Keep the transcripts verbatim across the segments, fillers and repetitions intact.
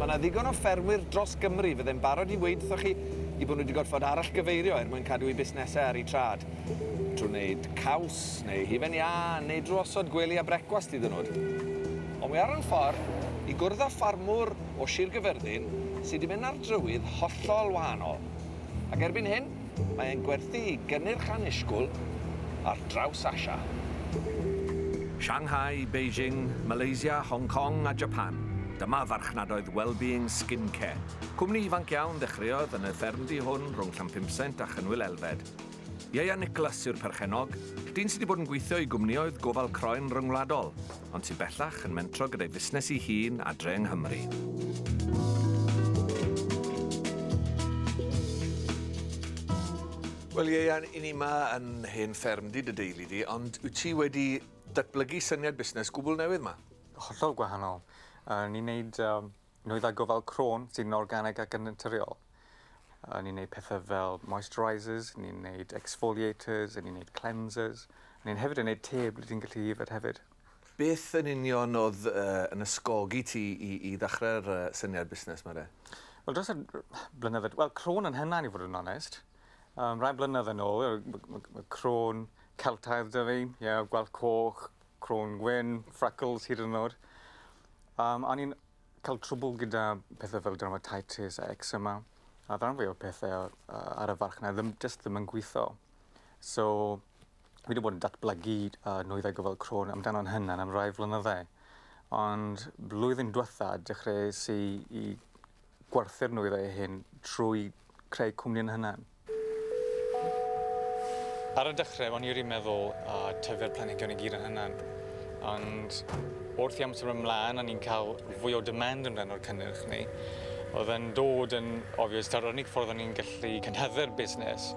Mae yna ddigon o ffermwyr dros Gymru fydde'n barod i weud wrthoch chi i bod nhw wedi gorfod arallgyfeirio er mwyn cadw eu busnesau ar eu trad. Trwy wneud caws, neu hufen iâ, neu drwy osod gwely a brecwast iddyn nhw. Ond wi ar yn ffordd i gwrdd â ffarmwr o Sir Gyfyrddin sydd wedi mynd ar drywydd hollol wahanol. Ac erbyn hyn, mae'n gwerthu i gynnyrch annisgwyl ar draws Asia. Shanghai, Beijing, Malaysia, Hong Kong a Japan. Dyma farchnadoedd Wellbeing Skincare. Cwmni ifanc iawn ddechreuodd yn y ffermdy hwn rhwng Llanpumsaint a Chynwyl Elfed. Ieuan Nicholas yw'r perchennog, dyn sydd wedi bod yn gweithio i gwmnioedd gofal croen ryngwladol, ond sy'n bellach yn mentro gyda'i fusnes ei hun adre yng Nghymru. Wel, Ieuan, i ni yma yn hen ffermdy dy deulu di, ond wyt ti wedi datblygu syniad busnes gwbl newydd yma? Hollol gwahanol. Uh, ni'n neud um, nwyddau gofal croen sydd yn organig ac yn naturiol. Uh, ni'n neud pethau fel moisturisers, ni'n neud exfoliators, ni'n neud cleansers. Ni'n hefyd yn neud te ble ti'n gallu yfed hefyd. Beth yn union oedd uh, yn ysgogi ti i, i ddechrau'r uh, syniad busnes yma de? Wel, dros y blynyddoedd... Wel, croen yn hynna, i fod yn onest. Um, rai blynedd yn ôl, mae croen Celtaidd 'da fi, yeah, gwallt coch, croen gwyn, freckles hyd yn oed. Um, o'n i'n cael trwbl gyda pethau fel dermatitis a eczema, a rhan fwy o pethau uh, ar y farchnad ddim, just ddim yn gweithio. So, fi wedi bod yn datblygu uh, nwyddau gofal croen amdano'n hynna am rai flynyddau. Ond blwyddyn diwetha dechreuais i, i gwerthu'r nwyddau hyn trwy creu cwmni yn hynna. Ar y dechrau, o'n i wedi meddwl uh, tyfu'r planhigion i gyd yn hynna. Ond wrth i amser ymlaen, o'n i'n cael fwy o demand amdano'r cynnyrch ni. Oedd yn dod yn obvious, ta'r unig ffordd o'n i'n gallu cynhyddu'r busnes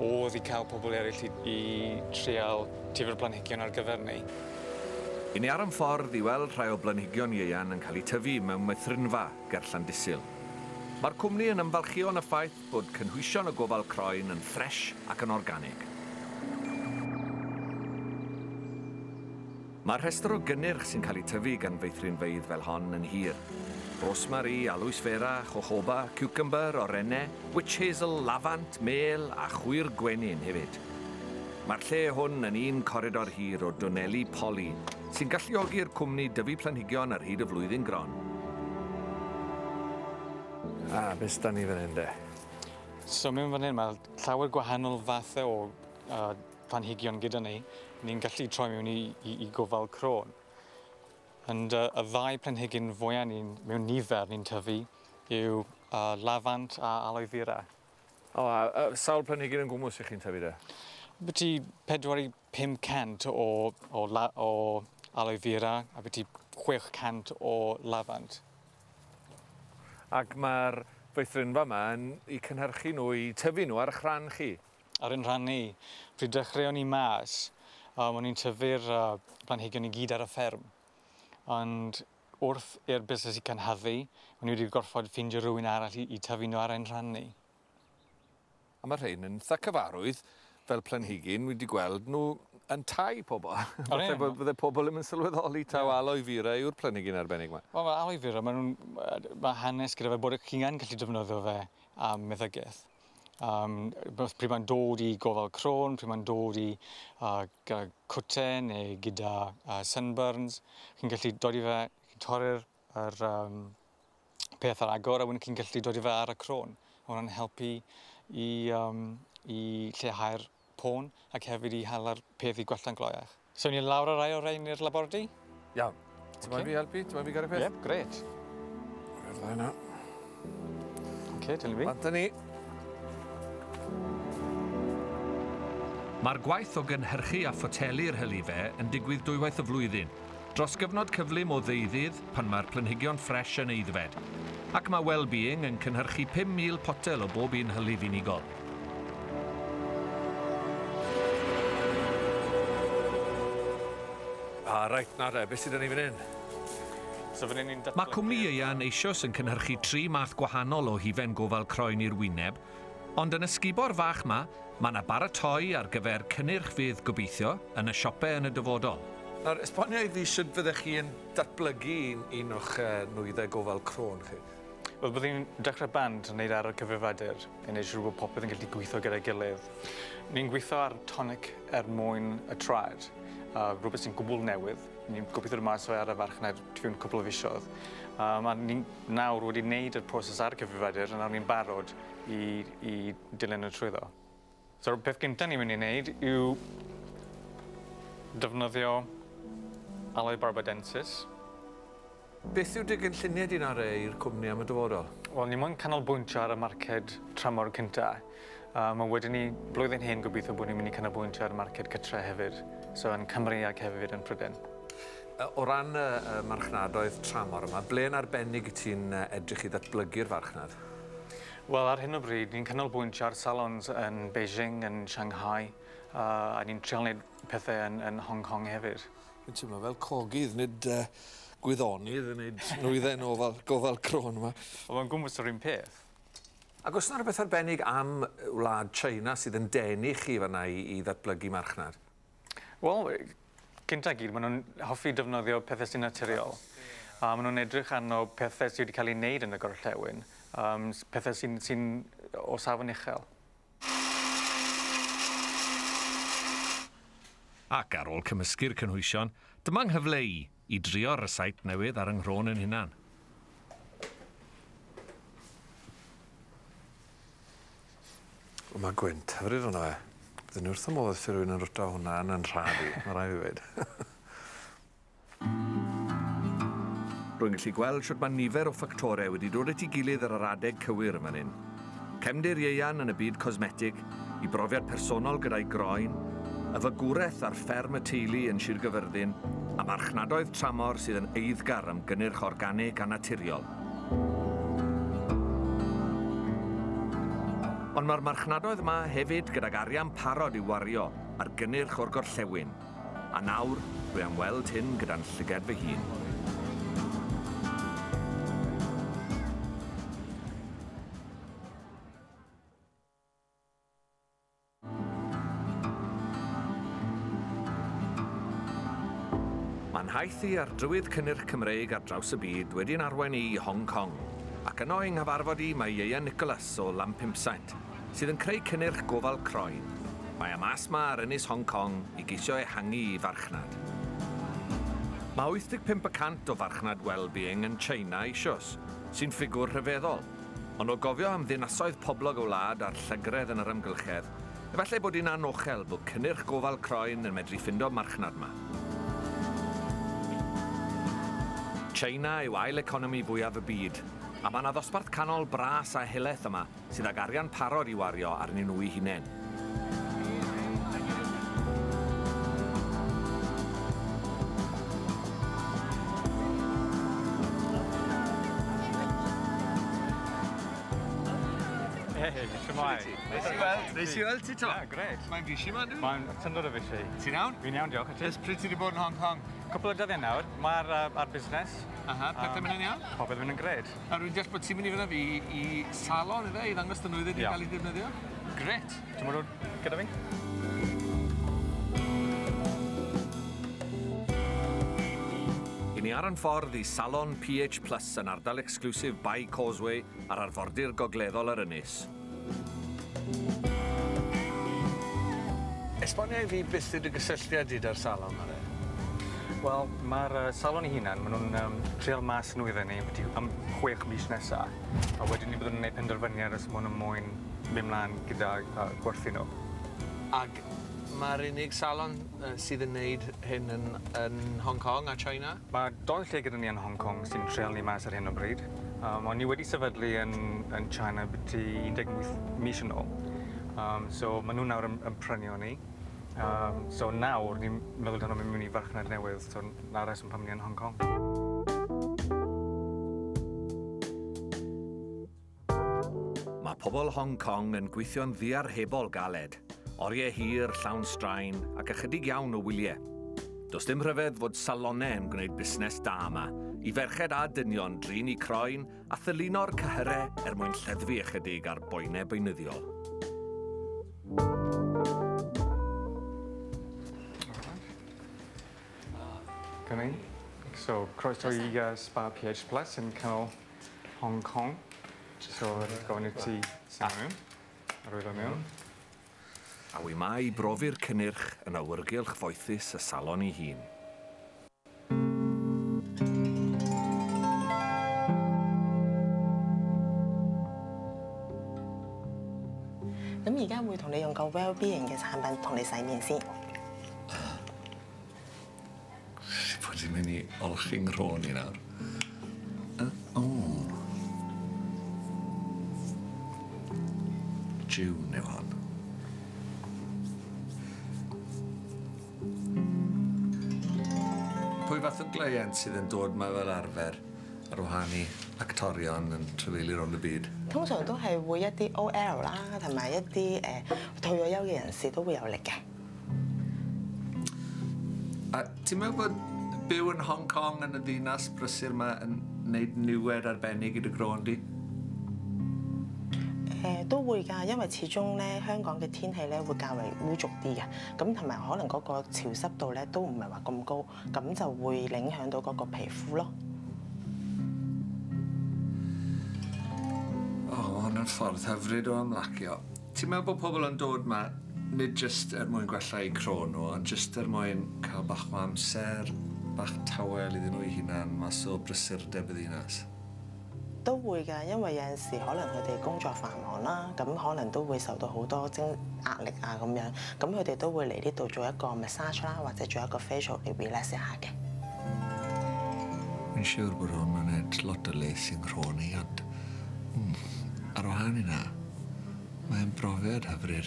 oedd i cael pobl eraill i, i trial tyfu'r planhigion ar gyfer ni. I ni ar yn ffordd i weld rhai o blanhigion Ieuan yn cael eu tyfu mewn meithrinfa ger Llandysul. Mae'r cwmni yn ymfalchïo yn y ffaith bod cynhwysion y gofal croen yn ffres ac yn organig. Mae'r rhestr o gynnyrch sy'n cael eu tyfu gan feithrinfeydd fel hon yn hir. Rosemary, aloes vera, jojoba, cucumber, orenne, witch hazel, lafant, mêl a chwyr gwenyn hefyd. Mae'r lle hwn yn un coridor hir o dwneli poli sy'n galluogi'r cwmni dyfu planhigion ar hyd y flwyddyn gron. A, beth 'da ni fan hyn de? So mewn fan hyn mae llawer gwahanol fathau o uh, planhigion gyda ni. Ni'n gallu troi mewn i, i, i gofal croen. Ond uh, y ddau planhigyn fwyaf ni'n, mewn nifer ni'n tyfu yw uh, lafant a aloe vera. O, a, a sawl planhigyn yn gwmws i chi'n tyfu de? Byti pedwar i pum cant o, o, la, o aloe vera a byti chwech cant o lafant. Ac mae'r feithrinfa yma yn eu cynhyrchu nhw, i tyfu nhw ar eich rhan chi? Ar ein rhan ni. Pryd dechreuon ni mas, um, o'n i'n tyfu'r uh, planhigion i gyd ar y fferm. Ond wrth i'r busnes i cynhyddu, o'n i wedi gorfod ffeindio rhywun arall i, i tyfu nhw ar ein rhan ni. A mae rhain yn eitha cyfarwydd fel planhigyn, wedi gweld nhw yn tai pobl. Falle bydde pobl ddim yn sylweddoli taw yeah. Aloe vera yw'r planhigyn arbennig yma. Wel, mae aloe vera, mae, mae hanes gyda fe bod chi'n gallu defnyddio fe am meddygaeth. Um, pryd mae'n dod i gofal croen, pryd mae'n dod i uh, cwte neu gyda uh, sunburns, chi'n gallu dod i fe, chi'n torri'r yr, um, peth ar agor a wedyn chi'n gallu dod i fe ar y croen. Mae hwnna'n helpu i, um, i lleihau'r pôn ac hefyd i hala'r peth i gwella'n gloiach. So ni'n lawr ar rai o'r rhain i'r labordy? Iawn. Ti'n moyn fi helpu? Ti'n moyn fi gael y peth? Yep, grêt. Rhaid yna. Oce, dyna fi. Bant â ni. Mae'r gwaith o gynhyrchu a photelu'r hylifau yn digwydd dwywaith y flwyddyn, dros gyfnod cyflym o ddeuddydd pan mae'r planhigion ffres yn aeddfed. Ac mae Wellbeing yn cynhyrchu pum mil potel o bob un hylif unigol. A reit, na de, beth sydd 'da ni fan hyn? So fan hyn ni'n datblygu... Mae cwmni Ieuan eisoes yn cynhyrchu tri math gwahanol o hufen gofal croen i'r wyneb, ond yn y sgubor fach ma, mae yna baratoi ar gyfer cynnyrch fydd gobeithio yn y siopau yn y dyfodol. Nawr, esbonio i fi sut fyddech chi yn datblygu un, un o'ch uh, nwyddau gofal croen chi? Wel, byddwn ni'n dechrau band yn wneud ar y cyfrifiadur i wneud siŵr bod popeth yn gallu gweithio gyda'i gilydd. Ni'n gweithio ar tonic er mwyn y traed, uh, rhywbeth sy'n gwbl newydd. Ni'n gobeithio dod mas ar y farchnad fewn cwpl o fisoedd. Um, a ni'n nawr wedi wneud y proses ar y cyfrifiadur a nawr ni'n barod i, i dilyn y trwyddo. So'r peth gyntaf ni'n mynd i wneud yw defnyddio Aloe barbadensis. Beth yw dy gynlluniau di nawr i'r cwmni am y dyfodol? Wel, ni moyn canolbwyntio ar y marced tramor cynta. Um, a wedyn ni, blwyddyn hyn, gobeithio bod ni'n mynd i canolbwyntio ar y marced cytre hefyd. So, yn Cymru ac hefyd yn Prydain. O ran y marchnadoedd tramor yma, ble yn arbennig ti'n edrych i ddatblygu'r farchnad? Wel, ar hyn o bryd, ni'n canolbwyntio ar salons yn Beijing, yn Shanghai, uh, a ni'n trial wneud pethau yn, yn Hong Kong hefyd. Dwi'n teimlo fel cogydd, nid uh, gwyddonydd yn wneud nwyddau ofal, gofal croen yma. Wel, mae'n gwmws o'r un peth. Ac oes yna rhywbeth arbennig am wlad China sydd yn denu chi fan'na i, i ddatblygu marchnad? Wel, cynta gyd, maen nhw'n hoffi defnyddio pethau sy'n naturiol. A maen nhw'n edrych arno pethau sydd wedi cael ei wneud yn y gorllewin, um, pethau sy'n sy o safon uchel. Ac ar ôl cymysgu'r cynhwysion, dyma nghyfle i i drio'r rysait newydd ar yng nghrôn yn hunan. Mae gwynt hyfryd hwnna fe. Byddwn i wrth y modd os rhywun yn rwto hwnna yn yn rhad i, mae rhaid fi weud. Rwy'n gallu gweld shwt mae nifer o ffactorau wedi dod at ei gilydd ar yr adeg cywir yn fan hyn. Cefndir Ieuan yn y byd cosmetig, i brofiad personol gyda'i groen, y fagwraeth ar fferm y teulu yn Sir Gyfyrddin, a marchnadoedd tramor sydd yn eiddgar am gynnyrch organig a naturiol. Ond mae'r marchnadoedd yma hefyd gydag arian parod i'w wario ar gynnyrch o'r gorllewin. A nawr, dwi am weld hyn gyda'n llygad fy hun. Mae'n nhaith i ar drywydd cynnyrch Cymreig ar draws y byd wedi'n arwain i Hong Kong. Ac yno yng nghyfarfod i mae Ieuan Nicholas o Lampimpsaint, sydd yn creu cynnyrch gofal croen. Mae am as ma ar ynys Hong Kong i geisio ehangu i farchnad. Mae wyth deg pump y cant o farchnad well-being yn China eisoes, sy'n ffigwr rhyfeddol. Ond o gofio am ddinasoedd poblog y wlad a'r llygredd yn yr amgylchedd, efallai bod hi'n anochel bod cynnyrch gofal croen yn medru ffindo marchnad yma. China yw ail economi fwyaf y byd, a mae yna ddosbarth canol bras a helaeth yma sydd ag arian parod i wario arnyn nhw eu hunain. Hei, shwmae? Neis i weld. Neis i weld ti to. Ie, grêt. Mae'n fishi ma, dwi? Mae'n syndod o fishi. Ti'n iawn? Fi'n iawn, diolch. Ers pryd ti wedi bod yn Hong Kong? Cwpl o dyddiau nawr. Mae'r uh, ar busnes. Aha, pethau mynd yn iawn? Popeth mynd yn grêt. A rwy'n deall bod ti'n mynd i fyna fi i salon, ife, i ddangos dy nwyddau di'n cael ei defnyddio? Grêt. Ti'n mynd gyda fi? I ni ar yn ffordd i Salon P H Plus yn ardal exclusive by Causeway ar arfordir gogleddol yr ynys. Esbonia i fi beth yw dy gysylltiad di da'r salon yma? Wel, mae'r uh, salon ei hunan, maen nhw'n um, trial mas nwyddau ni am chwech mis nesaf. A wedyn ni byddwn nhw'n gwneud penderfyniad os maen nhw'n moyn mynd mlaen gyda uh, gwerthu nhw. Ag mae'r unig salon uh, sydd yn gwneud hyn yn, yn Hong Kong a China? Mae doi lle gyda ni yn Hong Kong sy'n trial ni mas ar hyn o bryd. Um, ond ni wedi sefydlu yn, yn China byti un deg wyth mis yn ôl. Um, so maen nhw nawr yn, yn prynu o ni. Um, so nawr ni'n meddwl dan nhw'n mynd i farchnad newydd, so na'r reswm pam ni yn Hong Kong. Mae pobl Hong Kong yn gweithio'n ddiarhebol galed. Oriau hir, llawn straen ac ychydig iawn o wyliau. Does dim rhyfedd fod salonau yn gwneud busnes da yma, i ferched a dynion drin i croen a thylino'r cyhyrau er mwyn lleddfu ychydig ar boenau beunyddiol. Come in. So, croeso i uh, Spa P H Plus yn canol Hong Kong. So, gofyn i ti symud mewn, a rwyddo mewn. A wi ma i brofi'r cynnyrch yn awyrgylch foethus y salon ei hun. 咁而家會同你用個 Wellbeing 嘅產品同你洗面先。 Bod i'n mynd i olchi'n nghrôn i nawr. O. June yw hon. Pwy fath o gleient sydd yn dod 'ma fel arfer ar wahân i actorion yn trafeilio rownd y byd? 通常都係會一啲 O L 啦，同埋一啲誒退咗休嘅人士都會有嚟嘅。 A ti'n meddwl bod byw yn Hong Kong yn y ddinas brysur 'ma yn wneud niwed arbennig i dy groen di? 誒都會㗎，因為始終咧香港嘅天氣咧會較為污濁啲嘅，咁同埋可能嗰個潮濕度咧都唔係話咁高，咁就會影響到嗰個皮膚咯。 O, ma' hwn yn ffordd hyfryd o ymlacio. Ti'n meddwl bod pobl yn dod 'ma nid jyst er mwyn gwella eu croen nhw, ond jyst er mwyn cael bach o amser, bach tawel iddyn nhw eu hunan mas o brysurdeb y ddinas? 都會㗎，因為有陣時可能佢哋工作繁忙啦，咁可能都會受到好多精壓力啊咁樣，咁佢哋都會嚟呢度做一個 massage 啦，或者做一個 facial 嚟 relax 一下嘅。 Fi'n siŵr bod hwn yn neud lot o les i'n nghrôn i, ond mm, ar wahân i 'na, mae'n brofiad hyfryd.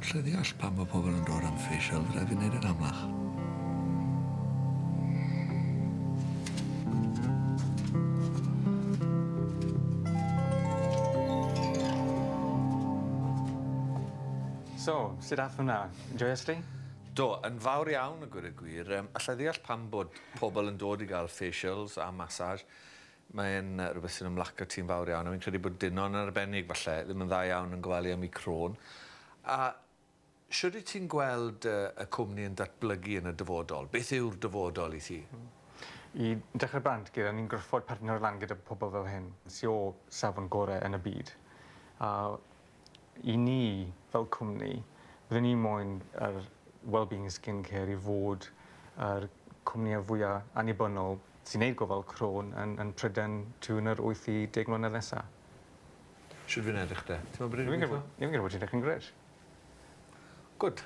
Alla i ddeall pam mae pobl yn dod am facial, fydda fi'n neud yn amlach. So, sut ath hwnna? Joies di? Do, yn fawr iawn y gwir y gwir. Um, alla i ddeall pam bod pobl yn dod i gael facials a massage. Mae'n uh, rhywbeth sy'n ymlacio ti'n fawr iawn, a fi'n credu bod dynon yn arbennig falle ddim yn dda iawn yn gofalu am eu crôn. A shwd wyt ti'n gweld uh, y cwmni yn datblygu yn y dyfodol? Beth yw'r dyfodol i ti? I dechrau bant gyda, ni'n gorfod partner lan gyda pobl fel hyn, sy o safon gorau yn y byd. A i ni, fel cwmni, byddwn ni moyn yr Wellbeing Skincare i fod yr cwmnïau fwyaf annibynnol sy'n neud gofal crôn yn, yn Prydain tua'r yr wyth i deg mlynedd nesaf. Shwd fi'n edrych de? Ti'n meddwl bod Fi'n fi'n credu bod ti'n edrych yn grêt. Good.